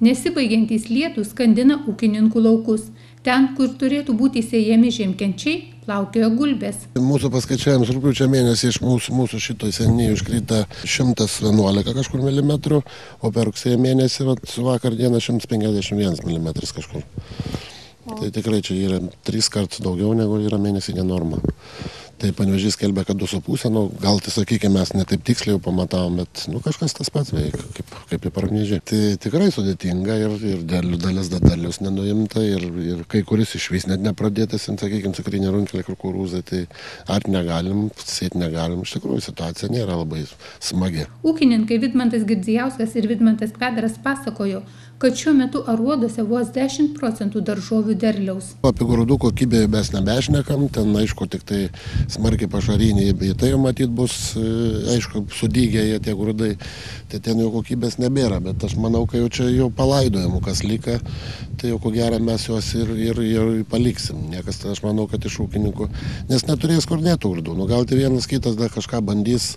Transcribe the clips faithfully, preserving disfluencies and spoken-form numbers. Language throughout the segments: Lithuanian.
Nesibaigiantys lietūs skandina ūkininkų laukus. Ten, kur turėtų būti sėjami žiemkenčiai, plaukioja gulbės. Mūsų paskaičiavimus rugpjūčio mėnesį iš mūsų, mūsų šito seniai užkrita šimtas vienuolika kažkur milimetrų, o per rugsėjo mėnesį vat, vakar dieną šimtas penkiasdešimt vienas milimetras kažkur. O. Tai tikrai čia yra tris kartus daugiau negu yra mėnesinė norma. Tai Panevėžys skelbia, kad du su pusė, nu, gal tai sakykime, mes ne taip tiksliai jau pamatavom, bet nu, kažkas tas pats veikia, kaip, kaip į Parnežį. Tai tikrai sudėtinga ir, ir dalis dalis nenuimta ir, ir kai kuris iš vis net nepradėtas, sakykime, cukrinė runkelė, kukurūzai, tai ar negalim, sėti negalim, iš tikrųjų situacija nėra labai smagi. Ūkininkai Vidmantas Girdzijauskas ir Vidmantas Kvedaras pasakojo, kad šiuo metu aruoduose vos dešimt procentų daržovių derliaus. Apie grūdų kokybę mes nebešnekam, ten aišku tik tai smarkiai pašariniai, bei tai jau matyt bus, aišku, sudygę jie tie grūdai, tai ten jau kokybės nebėra, bet aš manau, kad jau čia jau palaidojimų kas lika, tai jau ko gero mes juos ir, ir, ir paliksim. Niekas, tai aš manau, kad iš ūkininkų, nes neturės kur dėtų grūdų, nu gal tai vienas kitas dar kažką bandys,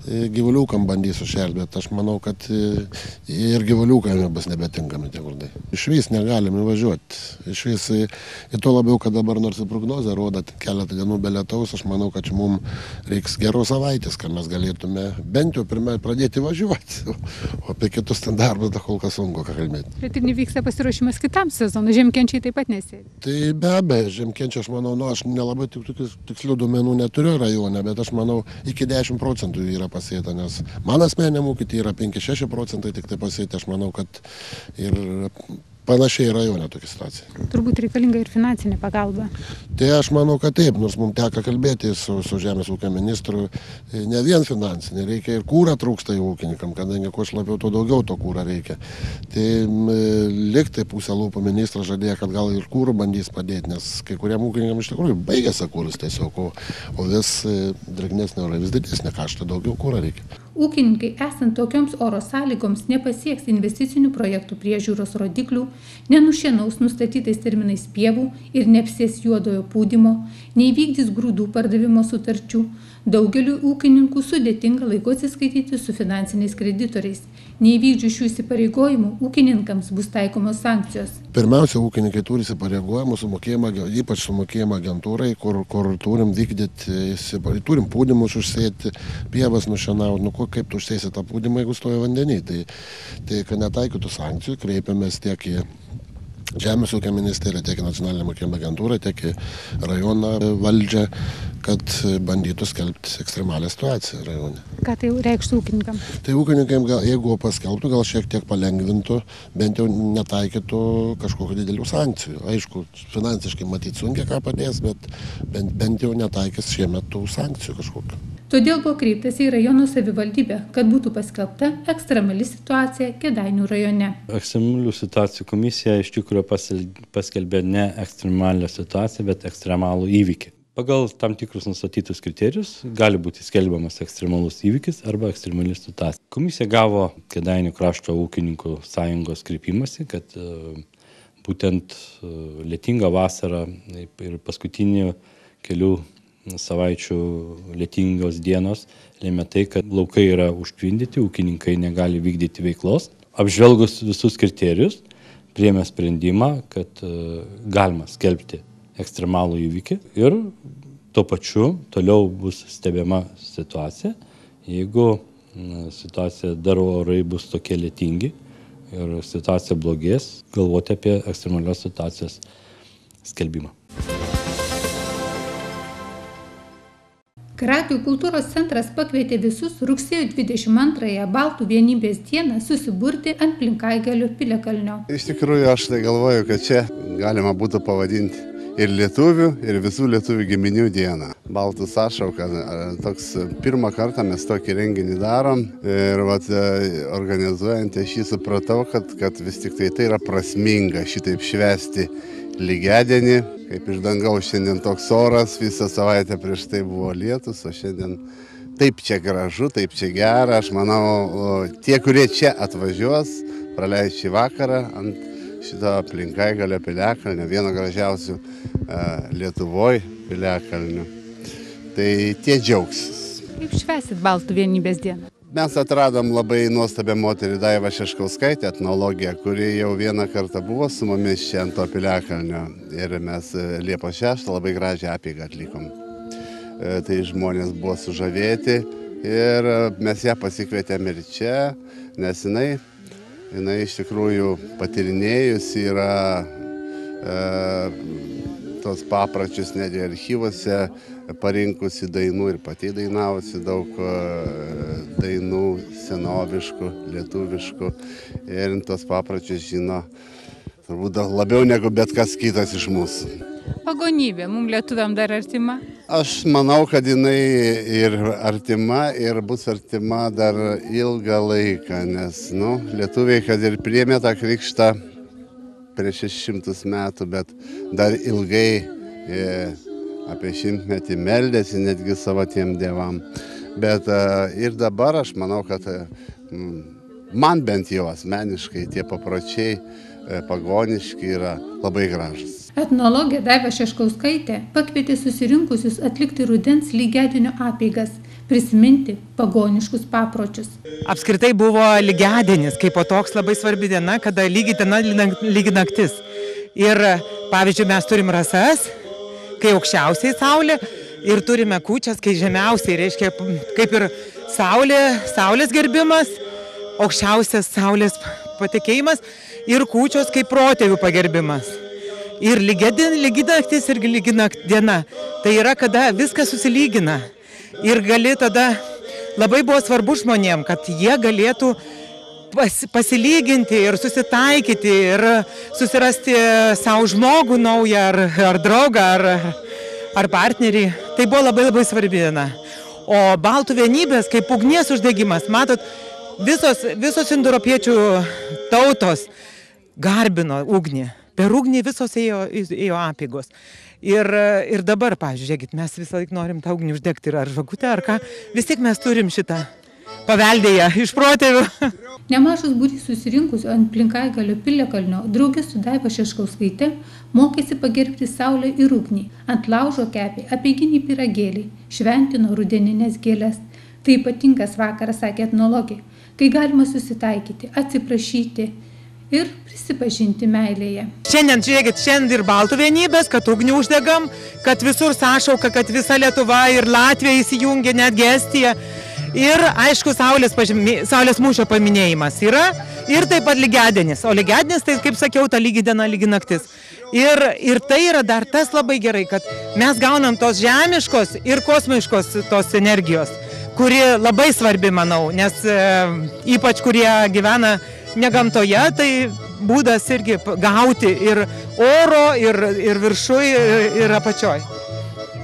gyvuliukam bandys užšerti, bet aš manau, kad ir gyvuliukam bus nebetinkami tie grūdai. Iš vis negalim įvažiuoti, iš vis, ir to labiau, kad dabar nors ir prognozė rodo keletą dienų be lietaus, aš manau, kad mums reiks geros savaitės, kad mes galėtume bent jau pirmai pradėti važiuoti, o apie kitus ten darbus dar kol kas sunku kalbėti. Bet ir nevyksta pasiruošimas kitam sezonui, žiemkenčiai taip pat nesėdi. Tai be abejo, žiemkenčiai, aš manau, nu, aš nelabai tik tikslių duomenų neturiu rajone, bet aš manau, iki dešimt procentų yra pasėta, nes man asmeniniam ūkiui yra penki šeši procentai tik tai pasėta, aš manau, kad ir panašiai rajone tokia situacija. Turbūt reikalinga ir finansinė pagalba. Tai aš manau, kad taip, nors mums teko kalbėti su, su Žemės ūkio ministru, ne vien finansinė, reikia ir kūrą trūksta į ūkininkam, kadangi kuo labiau, to daugiau to kūrą reikia. Tai liktai pusę lūpų ministras žadėjo, kad gal ir kūrų bandys padėti, nes kai kuriem ūkininkam iš tikrųjų baigėsi kūrus tiesiog, o, o vis drėgnesnė ora, vis didesnė kašta, daugiau kūrą reikia. Ūkininkai esant tokioms oro sąlygoms nepasieks investicinių projektų priežiūros rodiklių, nenušienaus nustatytais terminais pievų ir neapsės juodojo pūdymo, neįvykdys grūdų pardavimo sutarčių. Daugeliu ūkininkų sudėtinga laiku atsiskaityti su finansiniais kreditoriais. Neįvykdžius šių įsipareigojimų, ūkininkams bus taikomos sankcijos. Pirmiausia, ūkininkai turi įsipareigojimų sumokėjimą, ypač sumokėjimą agentūrai, kur, kur turim vykdyti, turim pūdymus užsėti, pievas nušienauti, nu kaip tu užsėsi tą pūdymą, jeigu stoja vandenį. Tai, tai kad netaikytų sankcijų, kreipiamės tiek į Žemės ūkio ministerija, tiek į nacionalinę mokėjimo agentūrą, tiek į rajono valdžią, kad bandytų skelbti ekstremalią situaciją rajone. Ką tai reikštų ūkininkam? Tai ūkininkam, gal, jeigu paskelbtų, gal šiek tiek palengvintų, bent jau netaikytų kažkokių didelių sankcijų. Aišku, finansiškai matyti sunkiai ką padės, bet bent, bent jau netaikys šiemet tų sankcijų kažkokių. Todėl buvo kreiptasi į rajono savivaldybę, kad būtų paskelbta ekstremali situacija Kėdainių rajone. Ekstremalių situacijų komisija iš tikrųjų paskelbė ne ekstremalią situaciją, bet ekstremalų įvykį. Pagal tam tikrus nustatytus kriterijus gali būti skelbiamas ekstremalus įvykis arba ekstremali situacija. Komisija gavo Kėdainių krašto ūkininkų sąjungos kreipimąsi, kad būtent lietinga vasara ir paskutinių kelių savaičių lietingos dienos lėmė tai, kad laukai yra užtvindyti, ūkininkai negali vykdyti veiklos. Apžvelgus visus kriterijus, priėmė sprendimą, kad galima skelbti ekstremalų įvykį ir tuo pačiu toliau bus stebima situacija. Jeigu situacija dar orai bus tokie lietingi ir situacija blogės, galvoti apie ekstremalios situacijos skelbimą. Krakių kultūros centras pakvietė visus rugsėjo dvidešimt antrąją Baltų vienybės dieną susiburti ant Plinkaigalio piliakalnio. Iš tikrųjų, aš tai galvoju, kad čia galima būtų pavadinti ir lietuvių, ir visų lietuvių giminių dieną. Baltų sąšauka, toks pirmą kartą mes tokį renginį darom ir vat, organizuojant aš jį supratau, kad, kad vis tik tai tai yra prasminga šitaip švęsti lygiadienį, kaip iš dangaus šiandien toks oras, visą savaitę prieš tai buvo lietus, o šiandien taip čia gražu, taip čia gera. Aš manau, tie, kurie čia atvažiuos, praleis šį vakarą ant šito Plinkaigalio piliakalnio, vieno gražiausių Lietuvoje piliakalnių. Tai tie džiaugsis. Kaip švęsit Baltų vienybės dieną? Mes atradom labai nuostabią moterį Daivą Šeškauskaitę, etnologę, kuri jau vieną kartą buvo su mumis čia ant to piliakalnio. Ir mes Liepos šeštą labai gražią apeigą atlikom. Tai žmonės buvo sužavėti ir mes ją pasikvietėm ir čia, nes jinai, jinai iš tikrųjų patyrinėjusi yra e, tos papročius netgi archyvuose, parinkusi dainų ir pati dainavusi daug dainų senoviškų, lietuviškų ir tos papročius žino turbūt labiau negu bet kas kitas iš mūsų. Pagonybė, mums lietuviam dar artima? Aš manau, kad jinai ir artima ir bus artima dar ilgą laiką, nes nu, lietuviai, kad ir priėmė tą krikštą prieš šešis šimtus metų, bet dar ilgai e, apie šimtmetį meldėsi netgi savo tiem dievam. Bet e, ir dabar aš manau, kad e, man bent jau asmeniškai tie papročiai e, pagoniški yra labai gražus. Etnologė Daiva Šeškauskaitė pakvietė susirinkusius atlikti rudens lygiadienio apeigas, prisiminti pagoniškus papročius. Apskritai buvo lygiadienis, kaip po toks labai svarbi diena, kada lygi diena, lygi naktis. Ir pavyzdžiui, mes turim rasas, kai aukščiausiai saulė, ir turime kūčias, kai žemiausiai, reiškia kaip ir saulė, saulės gerbimas, aukščiausias saulės patekėjimas ir kūčios kaip protėvių pagerbimas. Ir lygi naktis ir lygi diena. Tai yra, kada viskas susilygina. Ir gali tada, labai buvo svarbu žmonėm, kad jie galėtų pas, pasilyginti ir susitaikyti ir susirasti savo žmogų naują ar, ar draugą ar, ar partnerį. Tai buvo labai labai svarbi diena. O baltų vienybės, kaip ugnies uždegimas, matot, visos, visos indoeuropiečių tautos garbino ugnį. Per ugnį visos ėjo, ėjo apeigos. Ir, ir dabar, pavyzdžiui, žiūrėkit, mes visą laiką norim tą ugnį uždegti, ar žvakutę, ar ką. Vis tiek mes turim šitą paveldėję iš protėvių. Nemažas būrys susirinkusių ant Plinkaigalio piliakalnio draugė su Daiva Šeškauskaite mokėsi pagerbti saulę ir ugnį. Ant laužo kepė apeiginį pyragėlį, šventino rudeninės gėles. Tai ypatingas vakaras, sakė etnologė, kai galima susitaikyti, atsiprašyti ir prisipažinti meilėje. Šiandien, žiūrėkit, šiandien ir baltų vienybės, kad ugnį uždegam, kad visur sąšauka, kad visa Lietuva ir Latvija įsijungia, netgi Estija. Ir, aišku, saulės, pažymė, saulės mūšio paminėjimas yra ir taip pat lygiadienis. O lygiadienis, tai, kaip sakiau, ta lygi diena, lygi naktis. Ir, ir tai yra dar tas labai gerai, kad mes gaunam tos žemiškos ir kosmiškos tos energijos, kuri labai svarbi, manau, nes e, ypač kurie gyvena ne gamtoje, tai būdas irgi gauti ir oro, ir, ir viršui, ir, ir apačioj.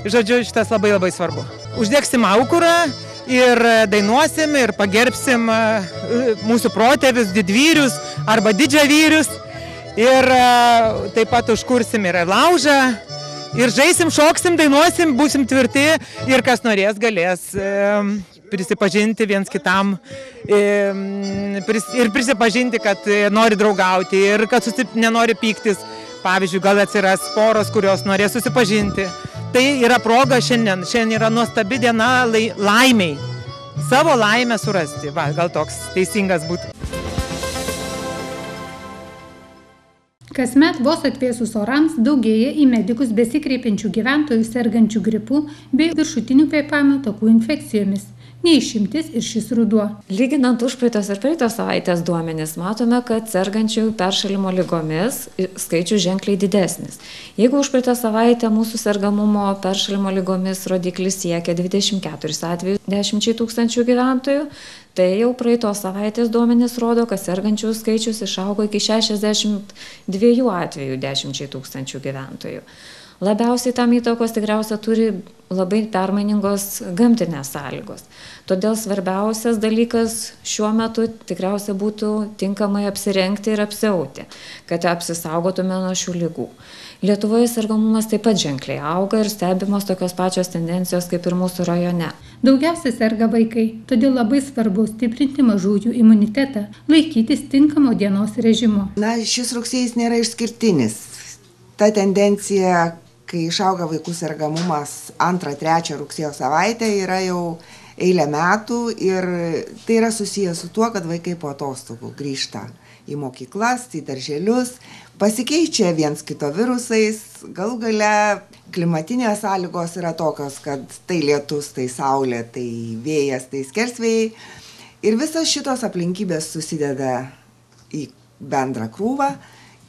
Žodžiu, šitas labai labai svarbu. Uždegsim aukurą ir dainuosim ir pagerbsim mūsų protėvius, didvyrius arba didžiavyrius. Ir taip pat užkursim ir laužą. Ir žaisim, šoksim, dainuosim, būsim tvirti ir kas norės galės prisipažinti viens kitam ir prisipažinti, kad nori draugauti ir kad susip, nenori pyktis. Pavyzdžiui, gal atsiras poros, kurios norės susipažinti. Tai yra proga šiandien. Šiandien yra nuostabi diena lai, laimiai. Savo laimę surasti. Va, gal toks teisingas būtų. Kasmet vos atvėsus orams daugėja į medikus besikreipiančių gyventojų sergančių gripu bei viršutinių kvėpavimo takų infekcijomis. Neišimtis ir šis ruduo. Lyginant užpraeitos ir praeitos savaitės duomenis, matome, kad sergančių peršalimo ligomis skaičius ženkliai didesnis. Jeigu užpraeitą savaitę mūsų sergamumo peršalimo ligomis rodiklis siekia dvidešimt keturis atvejus dešimčiai tūkstančių gyventojų, tai jau praeitos savaitės duomenys rodo, kad sergančių skaičius išaugo iki šešiasdešimt dviejų atvejų dešimčiai tūkstančių gyventojų. Labiausiai tam įtakos tikriausia turi labai permainingos gamtinės sąlygos. Todėl svarbiausias dalykas šiuo metu tikriausia būtų tinkamai apsirengti ir apsiauti, kad apsisaugotume nuo šių ligų. Lietuvoje sergamumas taip pat ženkliai auga ir stebimos tokios pačios tendencijos kaip ir mūsų rajone. Daugiausia serga vaikai, todėl labai svarbu stiprinti mažųjų imunitetą, laikytis tinkamo dienos režimo. Na, šis rugsėjis nėra išskirtinis. Ta tendencija, kai išauga vaikų sergamumas antrą trečią rugsėjo savaitę, yra jau eilę metų ir tai yra susijęs su tuo, kad vaikai po atostogų grįžta į mokyklas, į darželius, pasikeičia viens kito virusais, galų gale klimatinės sąlygos yra tokios, kad tai lietus, tai saulė, tai vėjas, tai skersvėjai. Ir visas šitos aplinkybės susideda į bendrą krūvą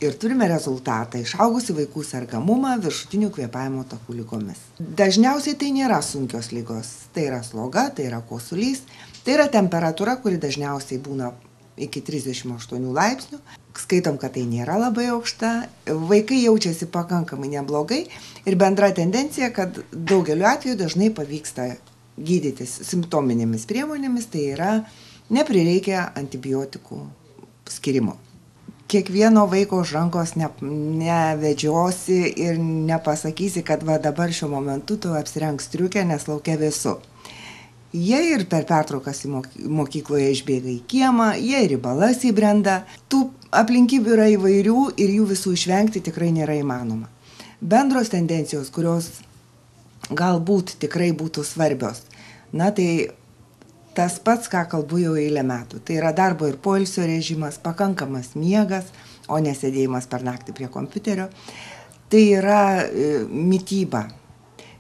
ir turime rezultatą išaugusi vaikų sergamumą viršutinių kvėpavimo takų ligomis. Dažniausiai tai nėra sunkios ligos, tai yra sloga, tai yra kosulys, tai yra temperatūra, kuri dažniausiai būna iki trisdešimt aštuonių laipsnių. Skaitom, kad tai nėra labai aukšta, vaikai jaučiasi pakankamai neblogai ir bendra tendencija, kad daugeliu atveju dažnai pavyksta gydytis simptominėmis priemonėmis, tai yra neprireikia antibiotikų skirimo. Kiekvieno vaiko už rankos ne, nevedžiosi ir nepasakysi, kad va dabar šiuo momentu tu apsirenk striukę, nes laukia vėsu. Jie ir per pertraukas į mokykloje išbėga į kiemą, jie ir į balas įbrenda. Tų aplinkybių yra įvairių ir jų visų išvengti tikrai nėra įmanoma. Bendros tendencijos, kurios galbūt tikrai būtų svarbios, na tai tas pats, ką kalbu jau eilę metų. Tai yra darbo ir poilsio režimas, pakankamas miegas, o nesėdėjimas per naktį prie kompiuterio. Tai yra e, mityba,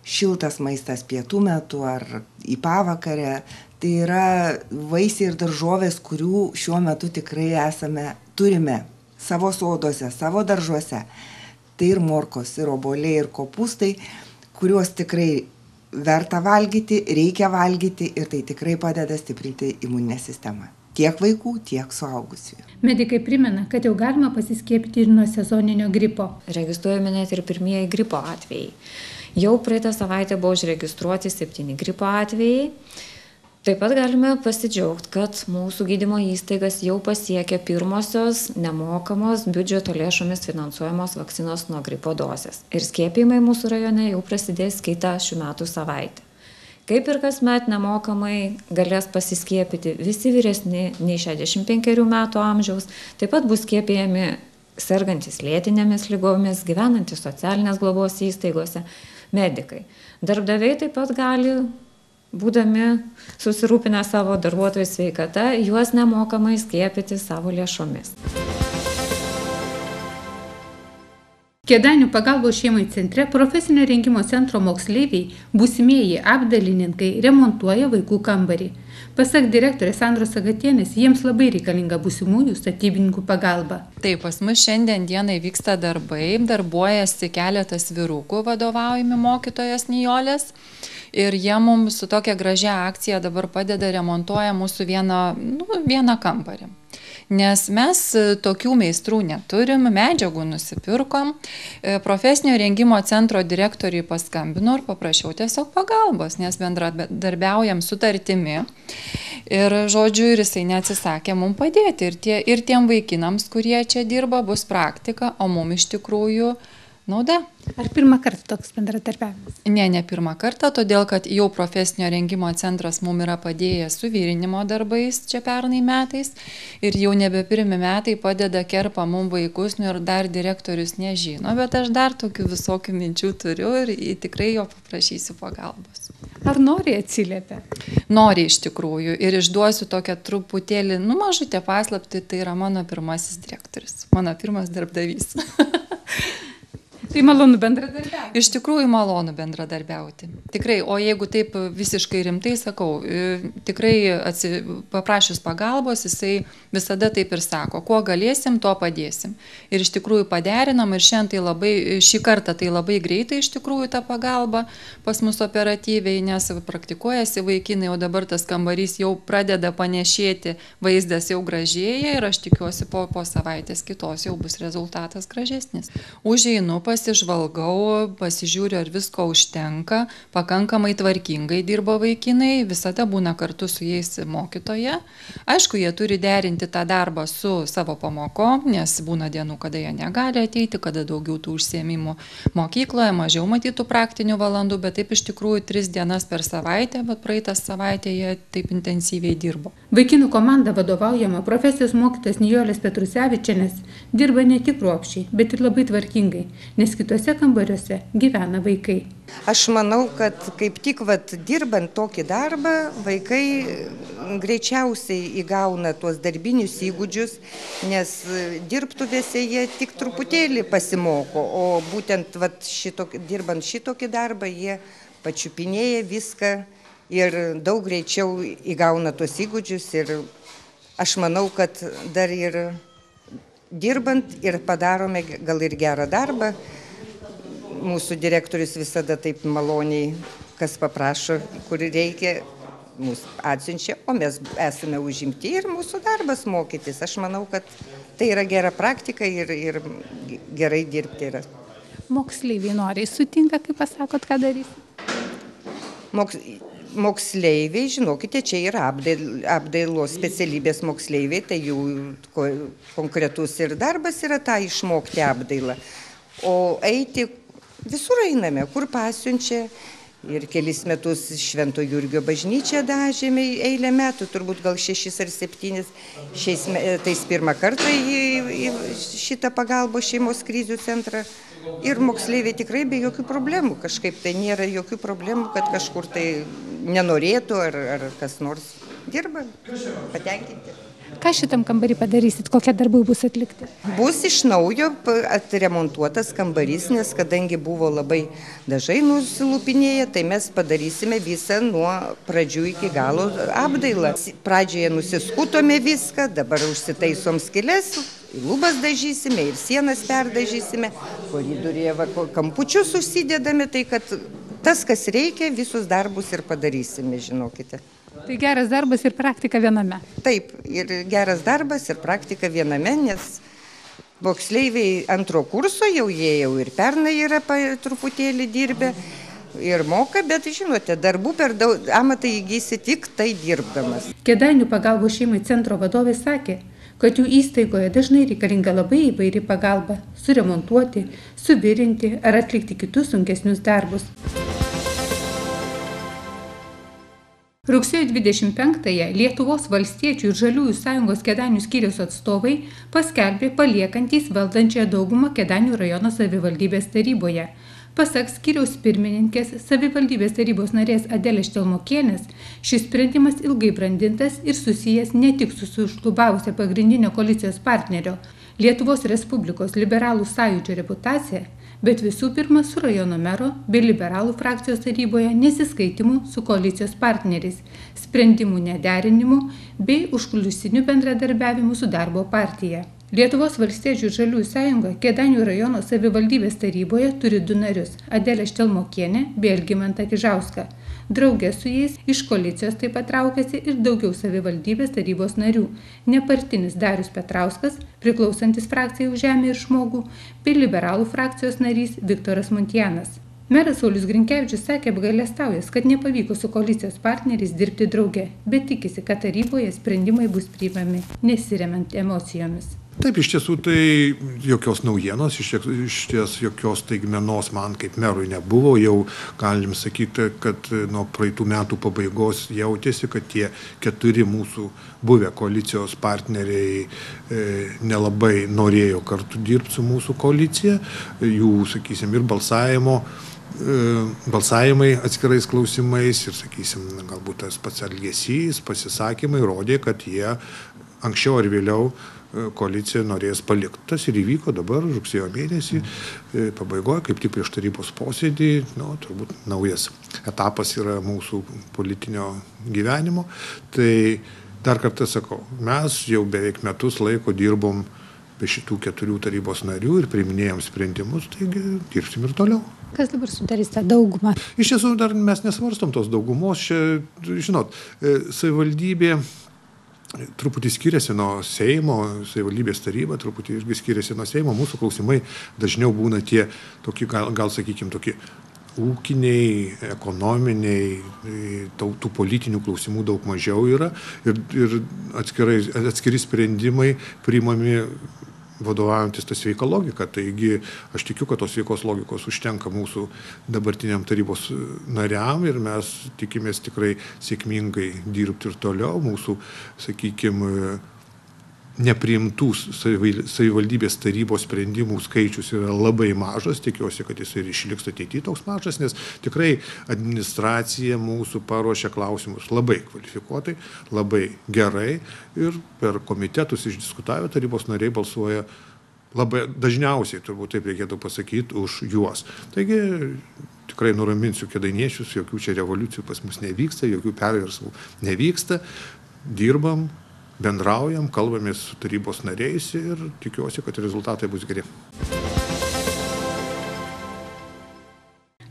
šiltas maistas pietų metu ar į pavakarę. Tai yra vaisiai ir daržovės, kurių šiuo metu tikrai esame, turime savo soduose, savo daržuose. Tai ir morkos, ir obuoliai, ir kopūstai, kuriuos tikrai verta valgyti, reikia valgyti ir tai tikrai padeda stiprinti imuninę sistemą. Tiek vaikų, tiek suaugusiųjų. Medikai primena, kad jau galima pasiskiepyti ir nuo sezoninio gripo. Registruojami net ir pirmieji gripo atvejai. Jau praeitą savaitę buvo užregistruoti septyni gripo atvejai. Taip pat galime pasidžiaugti, kad mūsų gydymo įstaigas jau pasiekė pirmosios nemokamos biudžeto lėšomis finansuojamos vakcinos nuo gripo dozės. Ir skiepijimai mūsų rajone jau prasidės kitą šių metų savaitę. Kaip ir kasmet nemokamai galės pasiskiepyti visi vyresni nei šešiasdešimt penkerių metų amžiaus, taip pat bus skiepijami sergantis lėtinėmis ligomis, gyvenantys socialinės globos įstaigose, medikai. Darbdaviai taip pat gali, būdami susirūpinę savo darbuotojų sveikata, juos nemokamai skiepyti savo lėšomis. Kėdainių pagalbos šeimai centre profesinio rengimo centro moksleiviai, būsimieji apdalininkai, remontuoja vaikų kambarį. Pasak direktorės Sandros Sagatienės, jiems labai reikalinga būsimųjų statybininkų pagalba. Taip, pas mus šiandien dienai vyksta darbai, darbuojasi keletas vyrukų vadovaujami mokytojas Nijolės. Ir jie mums su tokia gražia akcija dabar padeda remontuoja mūsų vieną, nu, vieną kambarį. Nes mes tokių meistrų neturim, medžiagų nusipirkom, profesinio rengimo centro direktoriui paskambino ir paprašiau tiesiog pagalbos, nes bendradarbiaujam sutartimi. Ir žodžiu, ir jisai neatsisakė mums padėti. Ir, tie, ir tiem vaikinams, kurie čia dirba, bus praktika, o mums iš tikrųjų nauda. Ar pirmą kartą toks bendradarbiavimas? Ne, ne pirmą kartą, todėl kad jau profesinio rengimo centras mums yra padėjęs su vyrinimo darbais čia pernai metais ir jau nebe pirmi metai padeda kerpa mums vaikus, nu ir dar direktorius nežino, bet aš dar tokių visokių minčių turiu ir tikrai jo paprašysiu pagalbos. Ar nori atsiliepia? Nori iš tikrųjų ir išduosiu tokią truputėlį, nu mažutę paslaptį, tai yra mano pirmasis direktorius, mano pirmas darbdavys. Tai malonu bendradarbiauti. Iš tikrųjų malonu bendradarbiauti. Tikrai, o jeigu taip visiškai rimtai sakau, tikrai atsi, paprašius pagalbos, jisai visada taip ir sako, kuo galėsim, tuo padėsim. Ir iš tikrųjų paderinam ir šiandien tai labai, šį kartą tai labai greitai iš tikrųjų ta pagalba pas mus operatyviai, nes praktikuojasi vaikinai, o dabar tas kambarys jau pradeda panešėti, vaizdas jau gražėja ir aš tikiuosi po, po savaitės kitos jau bus rezultatas gražesnis. Užeinu pas Pasižvalgau, pasižiūriu, ar visko užtenka, pakankamai tvarkingai dirba vaikinai, visada būna kartu su jais mokytoja. Aišku, jie turi derinti tą darbą su savo pamokom, nes būna dienų, kada jie negali ateiti, kada daugiau tų užsiėmimų mokykloje, mažiau matytų praktinių valandų, bet taip iš tikrųjų tris dienas per savaitę, bet praeitą savaitę jie taip intensyviai dirbo. Vaikinų komanda vadovaujama profesijos mokytojas Nijolės Petrusevičienės dirba ne tik kruopščiai, bet ir labai tvarkingai, nes kitose kambariuose gyvena vaikai. Aš manau, kad kaip tik vat, dirbant tokį darbą, vaikai greičiausiai įgauna tuos darbinius įgūdžius, nes dirbtuvėse jie tik truputėlį pasimoko, o būtent vat, šitok, dirbant šitokį darbą jie pačiupinėja viską ir daug greičiau įgauna tuos įgūdžius ir aš manau, kad dar ir dirbant ir padarome gal ir gerą darbą. Mūsų direktorius visada taip maloniai, kas paprašo, kur reikia, mūsų atsiunčia, o mes esame užimti ir mūsų darbas mokytis. Aš manau, kad tai yra gera praktika ir, ir gerai dirbti yra. Moksleiviai noriai sutinka, kaip pasakot, ką darys? Moks... Moksleiviai, žinokite, čia yra apdailos specialybės moksleiviai, tai jų konkretus ir darbas yra tą išmokti apdailą. O eiti visur einame, kur pasiunčia. Ir kelis metus Švento Jurgio bažnyčią dažėme eilę metų, turbūt gal šešis ar septynis. Šiais metais pirmą kartą į, į šitą pagalbos šeimos krizių centrą. Ir moksleiviai tikrai be jokių problemų, kažkaip tai nėra jokių problemų, kad kažkur tai nenorėtų ar, ar kas nors dirba, patenkinti. Ką šitam kambarį padarysit, kokie darbai bus atlikti? Bus iš naujo atremontuotas kambarys, nes kadangi buvo labai dažai nusilupinėję, tai mes padarysime visą nuo pradžių iki galo apdailą. Pradžioje nusiskutome viską, dabar užsitaisom skyles, lubas dažysime ir sienas perdažysime, koridoriuje kampučius užsidedame, tai kad tas, kas reikia, visus darbus ir padarysime, žinokite. Tai geras darbas ir praktika viename. Taip, ir geras darbas ir praktika viename, nes moksleiviai antro kurso jau jie jau ir pernai yra pa, truputėlį dirbę ir moka, bet žinote, darbų per daug amatą įgysi tik tai dirbdamas. Kėdainių pagalbos šeimai centro vadovė sakė, kad jų įstaigoje dažnai reikalinga labai įvairi pagalba – suremontuoti, suvirinti ar atlikti kitus sunkesnius darbus. Rugsėjo dvidešimt penktąją Lietuvos valstiečių ir žaliųjų sąjungos Kėdainių skyriaus atstovai paskelbė paliekantys valdančiąją daugumą Kėdainių rajono savivaldybės taryboje. Pasak skyriaus pirmininkės savivaldybės tarybos narės Adelės Štelmokienės, šis sprendimas ilgai brandintas ir susijęs ne tik su sušlubavusia pagrindinio koalicijos partnerio Lietuvos Respublikos liberalų sąjūdžio reputacija, bet visų pirma su rajono mero bei liberalų frakcijos taryboje nesiskaitimų su koalicijos partneriais, sprendimų nederinimu bei užkulisiniu bendradarbiavimu su darbo partija. Lietuvos valstiečių ir žaliųjų sąjunga Kėdainių rajono savivaldybės taryboje turi du narius – Adelę Štelmokienę bei Algimantą Kižauską. Drauge su jais iš koalicijos taip pat traukiasi ir daugiau savivaldybės tarybos narių – nepartinis Darius Petrauskas, priklausantis frakcijai Už žemę ir žmogų, bei liberalų frakcijos narys Viktoras Muntianas. Meras Saulius Grinkevičius sakė apgailestaujęs, kad nepavyko su koalicijos partneriais dirbti drauge, bet tikisi, kad taryboje sprendimai bus priimami, nesiremiant emocijomis. Taip, iš tiesų tai jokios naujienos, iš ties jokios staigmenos man kaip merui nebuvo, jau galim sakyti, kad nuo praeitų metų pabaigos jautėsi, kad tie keturi mūsų buvę koalicijos partneriai e, nelabai norėjo kartu dirbti su mūsų koalicija, jų, sakysim, ir balsavimo balsavimai atskirais klausimais ir, sakysim, galbūt tas pats elgesys, pasisakymai rodė, kad jie anksčiau ar vėliau koalicija norės palikti. Tas ir įvyko dabar, rugsėjo mėnesį, pabaigoje, kaip tik prieš tarybos posėdį, nu, turbūt naujas etapas yra mūsų politinio gyvenimo. Tai dar kartą sakau, mes jau beveik metus laiko dirbom be šitų keturių tarybos narių ir priiminėjom sprendimus, taigi dirbsim ir toliau. Kas dabar sudarys tą daugumą? Iš tiesų, dar mes nesvarstom tos daugumos. Čia, žinot, savivaldybė truputį skiriasi nuo Seimo, savivaldybės taryba truputį irgi skiriasi nuo Seimo. Mūsų klausimai dažniau būna tie, tokie, gal, gal sakykim, tokie ūkiniai, ekonominiai, tų politinių klausimų daug mažiau yra ir, ir atskirai, atskiri sprendimai priimami vadovaujantis tą sveiką logiką. Taigi aš tikiu, kad tos sveikos logikos užtenka mūsų dabartiniam tarybos nariam ir mes tikimės tikrai sėkmingai dirbti ir toliau. Mūsų, sakykime, nepriimtų savivaldybės tarybos sprendimų skaičius yra labai mažas, tikiuosi, kad jis ir išliks ateityje toks mažas, nes tikrai administracija mūsų paruošia klausimus labai kvalifikuotai, labai gerai ir per komitetus išdiskutavę tarybos nariai balsuoja labai dažniausiai, turbūt taip reikėtų pasakyti, už juos. Taigi tikrai nuraminsiu kėdainiečius, jokių čia revoliucijų pas mus nevyksta, jokių perversmų nevyksta, dirbam, bendraujam, kalbamės su tarybos nariais ir tikiuosi, kad rezultatai bus geri.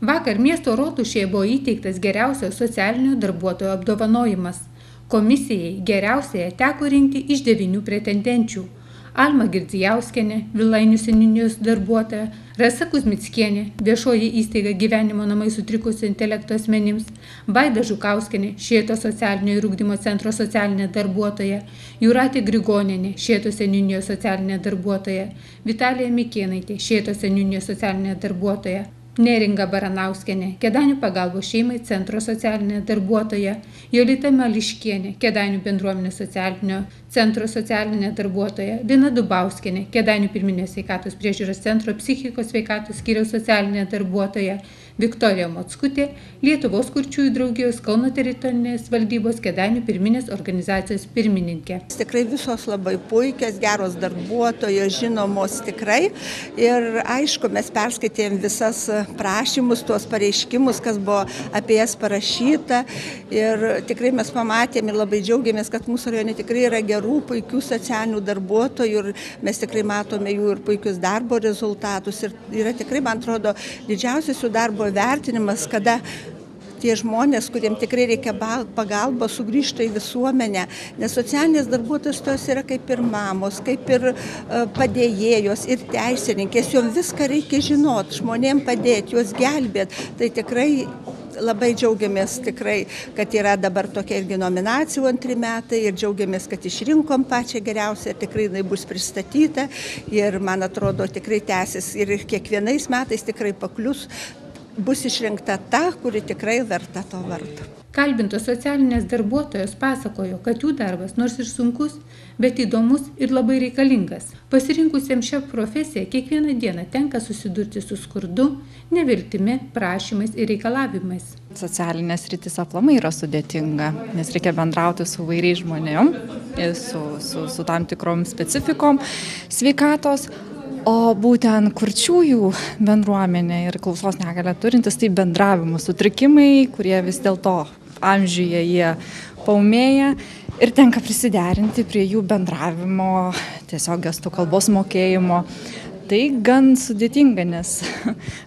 Vakar miesto rotušėje buvo įteiktas geriausio socialinio darbuotojo apdovanojimas. Komisijai geriausiai teko rinkti iš devynių pretendenčių. Alma Girdzijauskienė, Vilainių seniūnijos darbuotoja, Rasa Kuzmickienė, viešoji įstaiga gyvenimo namai sutrikusio intelekto asmenims, Vaida Žukauskienė, Šėto socialinio ir ugdymo centro socialinė darbuotoja, Jūratė Grigonienė, Šėto seniūnijos socialinė darbuotoja, Vitalija Mikėnaitė, Šėto seniūnijos socialinė darbuotoja, Neringa Baranauskienė, Kėdainių pagalbos šeimai centro socialinė darbuotoja, Jolita Mališkienė, Kėdainių bendruomenės socialinio centro socialinė darbuotoja, Lina Dubauskienė, Kėdainių pirminės sveikatos priežiūros centro psichikos sveikatos skyriaus socialinė darbuotoja, Viktorija Mockutė, Lietuvos kurčiųjų draugijos Kauno teritorinės valdybos Kėdainių pirminės organizacijos pirmininkė. Tikrai visos labai puikios, geros darbuotojos, žinomos tikrai. Ir aišku, mes perskaitėm visas prašymus, tuos pareiškimus, kas buvo apie jas parašyta. Ir tikrai mes pamatėm ir labai džiaugiamės, kad mūsų rajone tikrai yra gerų, puikių socialinių darbuotojų ir mes tikrai matome jų ir puikius darbo rezultatus. Ir yra tikrai, man atrodo, didžiausias jų darbo vertinimas, kada tie žmonės, kuriems tikrai reikia pagalbos, sugrįžta į visuomenę, nes socialinės darbuotojos tos yra kaip ir mamos, kaip ir padėjėjos ir teisininkės, jom viską reikia žinoti, žmonėm padėti, juos gelbėti. Tai tikrai labai džiaugiamės tikrai, kad yra dabar tokia irgi nominacijų antri metai ir džiaugiamės, kad išrinkom pačią geriausią, tikrai jinai bus pristatyta ir man atrodo tikrai tęsis ir kiekvienais metais tikrai paklius, bus išrinkta ta, kuri tikrai verta to vardo. Kalbintos socialinės darbuotojos pasakojo, kad jų darbas nors ir sunkus, bet įdomus ir labai reikalingas. Pasirinkusiems šią profesiją kiekvieną dieną tenka susidurti su skurdu, neviltimi, prašymais ir reikalavimais. Socialinės rytis aplamai yra sudėtinga, nes reikia bendrauti su vairiais žmonėm, su, su, su tam tikrom specifikom sveikatos. O būtent kurčiųjų bendruomenė ir klausos negalią turintis, tai bendravimo sutrikimai, kurie vis dėlto amžiuje jie paūmėja ir tenka prisiderinti prie jų bendravimo, tiesiog gestų kalbos mokėjimo. Tai gan sudėtinga, nes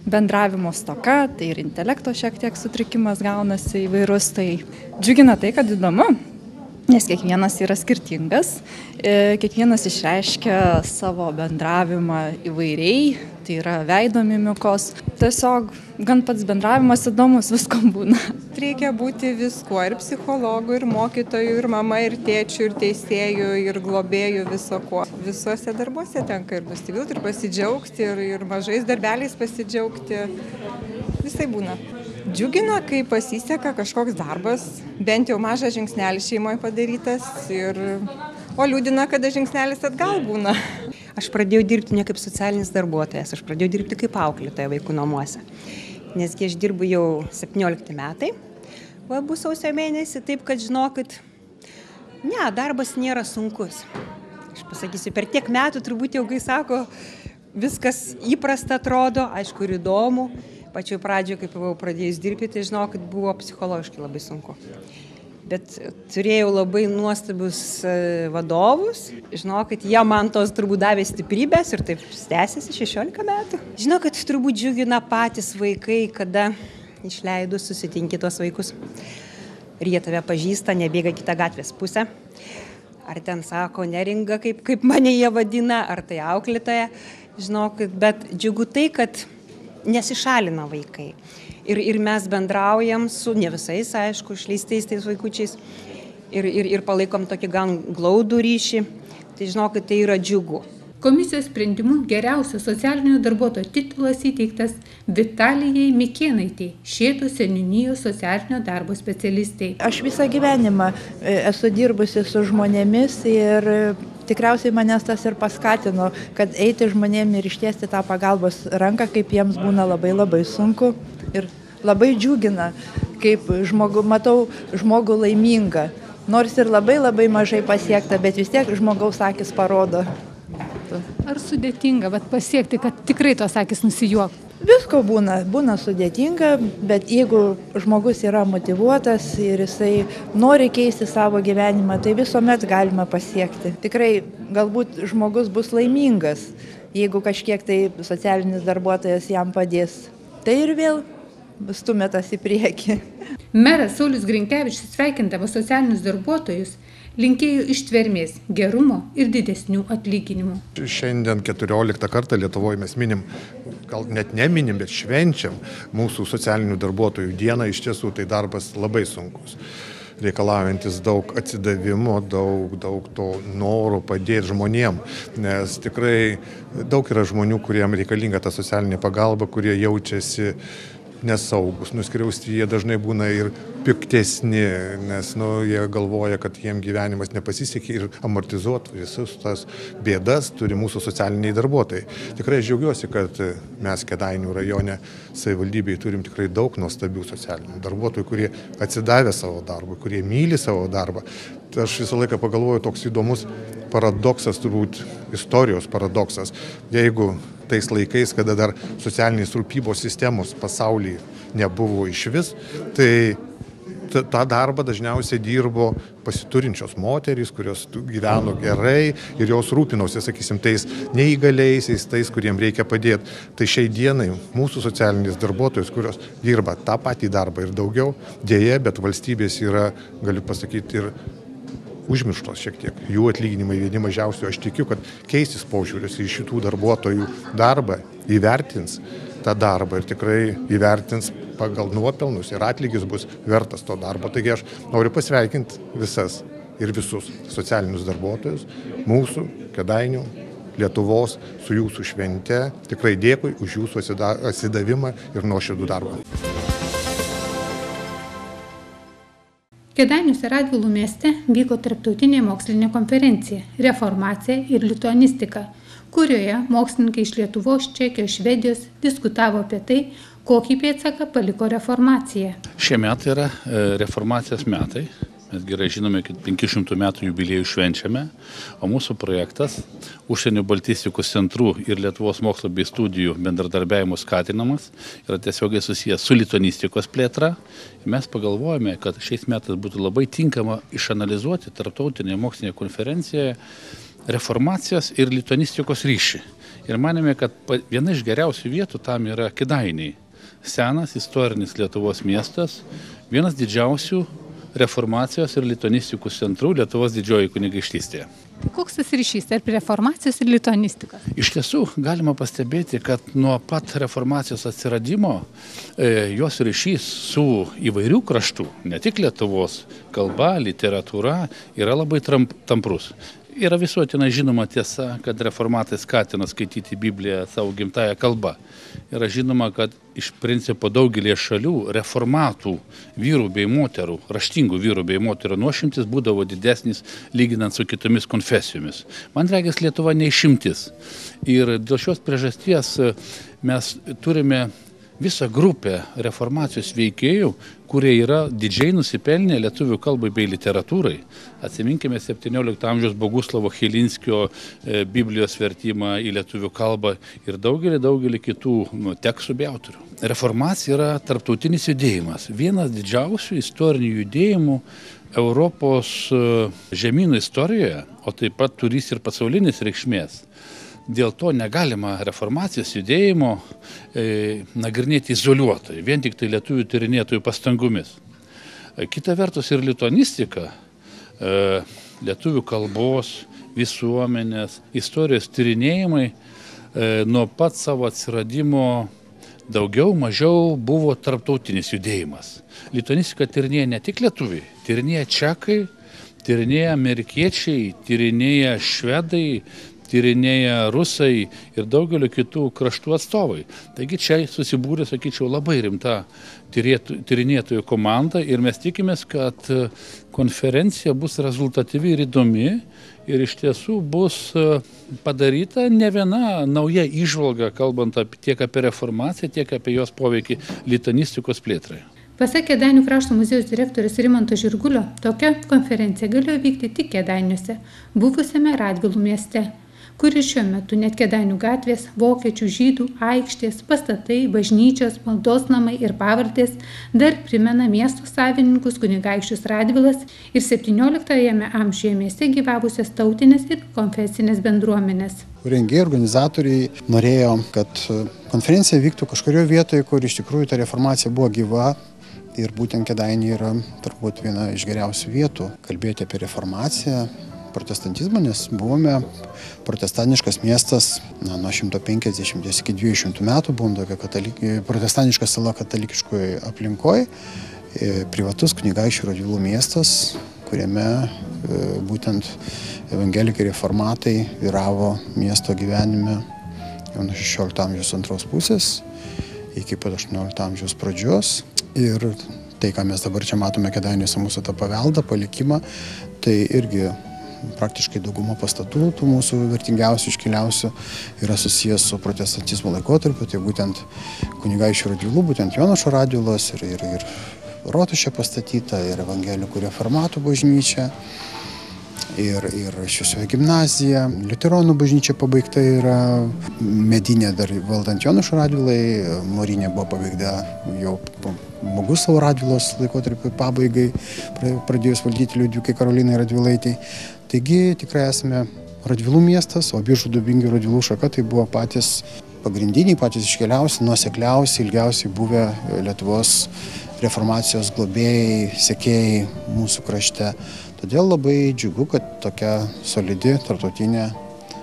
bendravimo stoka, tai ir intelekto šiek tiek sutrikimas gaunasi įvairus, tai džiugina tai, kad įdomu. Nes kiekvienas yra skirtingas, kiekvienas išreiškia savo bendravimą įvairiai, tai yra veido mimikos. Tiesiog gan pats bendravimas įdomus, viskam būna. Reikia būti viskuo, ir psichologų, ir mokytojų, ir mama, ir tėčių, ir teisėjų, ir globėjų, viso ko. Visuose darbuose tenka ir nusivilti, ir pasidžiaugti, ir, ir mažais darbeliais pasidžiaugti. Visai būna. Džiugina, kai pasiseka kažkoks darbas, bent jau mažas žingsnelis šeimoje padarytas, ir... o liūdina, kada žingsnelis atgal būna. Aš pradėjau dirbti ne kaip socialinis darbuotojas, aš pradėjau dirbti kaip auklėtoja vaikų namuose. Nesgi aš dirbu jau septyniolikti metai, va bus sausio mėnesį, taip kad žinokit, ne, darbas nėra sunkus. Aš pasakysiu, per tiek metų turbūt jau, kai sako, viskas įprasta atrodo, aišku ir įdomu. Pačioj pradžioje, kaip buvau pradėjus dirbti, tai žinau, kad buvo psichologiškai labai sunku. Bet turėjau labai nuostabius vadovus, žinau, kad jie man tos turbūt davė stiprybės ir taip tęsiasi šešiolika metų. Žinau, kad turbūt džiugina patys vaikai, kada išleidus susitinki tuos vaikus ir jie tave pažįsta, nebėga kitą gatvės pusę. Ar ten sako Neringa, kaip, kaip mane jie vadina, ar tai auklėtoja, žinau, bet džiugu tai, kad nesišalina vaikai. Ir, ir mes bendraujam su, ne visais, aišku, išleistais tais vaikučiais ir, ir, ir palaikom tokį gan glaudų ryšį. Tai žinau, kad tai yra džiugu. Komisijos sprendimu geriausio socialinio darbuotojo titulas įteiktas Vitalijai Mikėnaitei, Šėtų seniūnijos socialinio darbo specialistei. Aš visą gyvenimą esu dirbusi su žmonėmis ir tikriausiai manęs tas ir paskatino, kad eiti žmonėm ir ištiesti tą pagalbos ranką, kaip jiems būna labai labai sunku ir labai džiugina, kaip žmogu, matau žmogų laimingą. Nors ir labai labai mažai pasiekta, bet vis tiek žmogaus akis parodo. Ar sudėtinga vat, pasiekti, kad tikrai tos akis nusijuoktų? Visko būna, būna sudėtinga, bet jeigu žmogus yra motyvuotas ir jisai nori keisti savo gyvenimą, tai visuomet galima pasiekti. Tikrai galbūt žmogus bus laimingas, jeigu kažkiek tai socialinis darbuotojas jam padės. Tai ir vėl stumėtas į priekį. Meras Saulius Grinkevičius, sveikindamas socialinius darbuotojus, linkėjo ištvermės, gerumo ir didesnių atlyginimų. Šiandien keturioliktą kartą Lietuvoje mes minim, gal net neminim, bet švenčiam mūsų socialinių darbuotojų dieną. Iš tiesų tai darbas labai sunkus, reikalaujantis daug atsidavimo, daug, daug to noro padėti žmonėm, nes tikrai daug yra žmonių, kuriem reikalinga ta socialinė pagalba, kurie jaučiasi nesaugus, nuskriausti, jie dažnai būna ir piktesni, nes nu, jie galvoja, kad jiem gyvenimas nepasisekė ir amortizuoti visus tas bėdas turi mūsų socialiniai darbuotojai. Tikrai džiaugiuosi, kad mes Kėdainių rajone savivaldybėje turim tikrai daug nuostabių socialinių darbuotojų, kurie atsidavė savo darbui, kurie myli savo darbą. Aš visą laiką pagalvoju, toks įdomus paradoksas, turbūt istorijos paradoksas. Jeigu tais laikais, kada dar socialinės rūpybos sistemos pasaulyje nebuvo išvis, tai tą darbą dažniausiai dirbo pasiturinčios moterys, kurios gyveno gerai ir jos rūpinosi, sakysim, tais neįgaliaisiais, tais, kuriem reikia padėti. Tai šiai dienai mūsų socialinės darbuotojos, kurios dirba tą patį darbą ir daugiau, dėja, bet valstybės yra, galiu pasakyti, ir užmirštos šiek tiek. Jų atlyginimai vieni mažiausių. Aš tikiu, kad keisis požiūris į šitų darbuotojų darbą, įvertins tą darbą ir tikrai įvertins pagal nuopelnus ir atlygis bus vertas to darbo. Taigi aš noriu pasveikinti visas ir visus socialinius darbuotojus, mūsų, Kėdainių, Lietuvos, su jūsų švente. Tikrai dėkui už jūsų atsidavimą ir nuoširdų darbą. Kėdainiuose Radvilų mieste vyko tarptautinė mokslinė konferencija Reformacija ir lituanistika, kurioje mokslininkai iš Lietuvos, Čekijos, Švedijos diskutavo apie tai, kokį pėdsaką paliko reformacija. Šie metai yra reformacijos metai. Mes gerai žinome, kad penkių šimtų metų jubiliejų švenčiame, o mūsų projektas Užsienio baltistikos centrų ir Lietuvos mokslo bei studijų bendradarbiavimo skatinamas yra tiesiogiai susijęs su lituanistikos plėtra. Mes pagalvojame, kad šiais metais būtų labai tinkama išanalizuoti tarptautinėje mokslinėje konferencijoje reformacijos ir lituanistikos ryšį. Ir manėme, kad viena iš geriausių vietų tam yra Kėdainiai. Senas istorinis Lietuvos miestas, vienas didžiausių reformacijos ir lituanistikos centrų Lietuvos didžioji kunigaikštystėje. Koks tas ryšys tarp reformacijos ir lituanistikos? Iš tiesų galima pastebėti, kad nuo pat reformacijos atsiradimo e, jos ryšys su įvairių kraštų, ne tik Lietuvos kalba, literatūra, yra labai tramp, tamprus. Yra visuotinai žinoma tiesa, kad reformatai skatino skaityti Bibliją savo gimtąją kalbą. Yra žinoma, kad iš principo daugelį šalių reformatų vyrų bei moterų, raštingų vyrų bei moterų nuošimtis būdavo didesnis lyginant su kitomis konfesijomis. Man regis, Lietuva neišimtis. Ir dėl šios priežasties mes turime visą grupę reformacijos veikėjų, kurie yra didžiai nusipelnę lietuvių kalbai bei literatūrai. Atsiminkime septyniolikto amžiaus Boguslavo Chilinskio e, Biblijos vertimą į lietuvių kalbą ir daugelį, daugelį kitų nu, tekstų bei autorių. Reformacija yra tarptautinis judėjimas, vienas didžiausių istorinių judėjimų Europos e, žemynų istorijoje, o taip pat turys ir pasaulinis reikšmės. Dėl to negalima reformacijos judėjimo e, nagrinėti izoliuotai, vien tik tai lietuvių tyrinėtojų pastangomis. E, kita vertus ir lituanistika, e, lietuvių kalbos, visuomenės, istorijos tyrinėjimai e, nuo pat savo atsiradimo daugiau mažiau buvo tarptautinis judėjimas. Lituanistika tyrinėja ne tik lietuviai, tyrinėja čekai, tyrinėja amerikiečiai, tyrinėja švedai, tyrinėja rusai ir daugelio kitų kraštų atstovai. Taigi čia susibūrė, sakyčiau, labai rimta tyrinėtojų komanda ir mes tikimės, kad konferencija bus rezultatyvi ir įdomi ir iš tiesų bus padaryta ne viena nauja įžvalga, kalbant apie, tiek apie reformaciją, tiek apie jos poveikį lituanistikos plėtrai. Pasak Kėdainių krašto muziejaus direktorius Rimanto Žirgulio, tokia konferencija galėjo vykti tik Kėdainiuose, buvusiame Radvilų mieste, kuris šiuo metu net Kėdainių gatvės, vokiečių, žydų, aikštės, pastatai, bažnyčios, maldos namai ir pavardės dar primena miesto savininkus kunigaikščius Radvilas ir septynioliktajame amžiuje mieste gyvavusias tautinės ir konfesinės bendruomenės. Rengėjai, organizatoriai norėjo, kad konferencija vyktų kažkurioje vietoje, kur iš tikrųjų ta reformacija buvo gyva. Ir būtent Kėdainiai yra turbūt viena iš geriausių vietų kalbėti apie reformaciją, protestantizmą, nes buvome protestantiškas miestas na, nuo šimto penkiasdešimties iki dviejų šimtų metų, buvom tokia katalik, protestantiška sala katalikiškoje aplinkoje, privatus kunigaikščių Radvilų miestas, kuriame būtent evangelikai reformatai vyravo miesto gyvenime jau nuo šešiolikto amžiaus antros pusės iki pat aštuoniolikto amžiaus pradžios. Ir tai, ką mes dabar čia matome Kėdainiuose, mūsų tą paveldą, palikimą, tai irgi praktiškai dauguma pastatų, tų mūsų vertingiausių, iškiliausių, yra susijęs su protestantizmo laikotarpiu, tai būtent kunigaikščių Radvilų, būtent Jonušo Radvilos ir, ir, ir Rotušė pastatyta, ir evangelikų reformatų bažnyčia, ir, ir Šviesioji gimnazija, liuteronų bažnyčia pabaigta yra, medinė dar valdant Jonušo Radvilai, Morinė buvo pabaigta jau Boguslavo Radvilos laikotarpiu pabaigai, pradėjus valdyti Liudvikai Karolinai Radvilaitei. Taigi tikrai esame Radvilų miestas, o Biržų Dubingių Radvilų šaka tai buvo patys pagrindiniai, patys iškeliausi, nuosekliausi, ilgiausiai buvę Lietuvos reformacijos globėjai, sekėjai mūsų krašte. Todėl labai džiugu, kad tokia solidi tarptautinė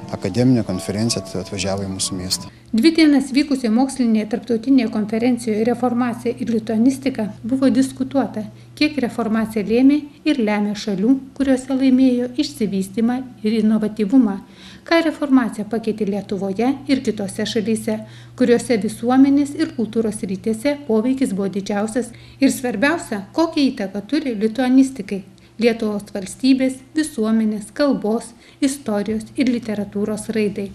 akademinė konferencija atvažiavo į mūsų miestą. Dvi dienas vykusioje mokslinėje tarptautinėje konferencijoje Reformacija ir lituanistika buvo diskutuota, kiek reformacija lėmė ir lemia šalių, kuriuose laimėjo išsivystymą ir inovatyvumą, ką reformacija pakeitė Lietuvoje ir kitose šalyse, kuriuose visuomenės ir kultūros rytėse poveikis buvo didžiausias ir svarbiausia, kokią įtaką turi lituanistikai Lietuvos valstybės, visuomenės, kalbos, istorijos ir literatūros raidai.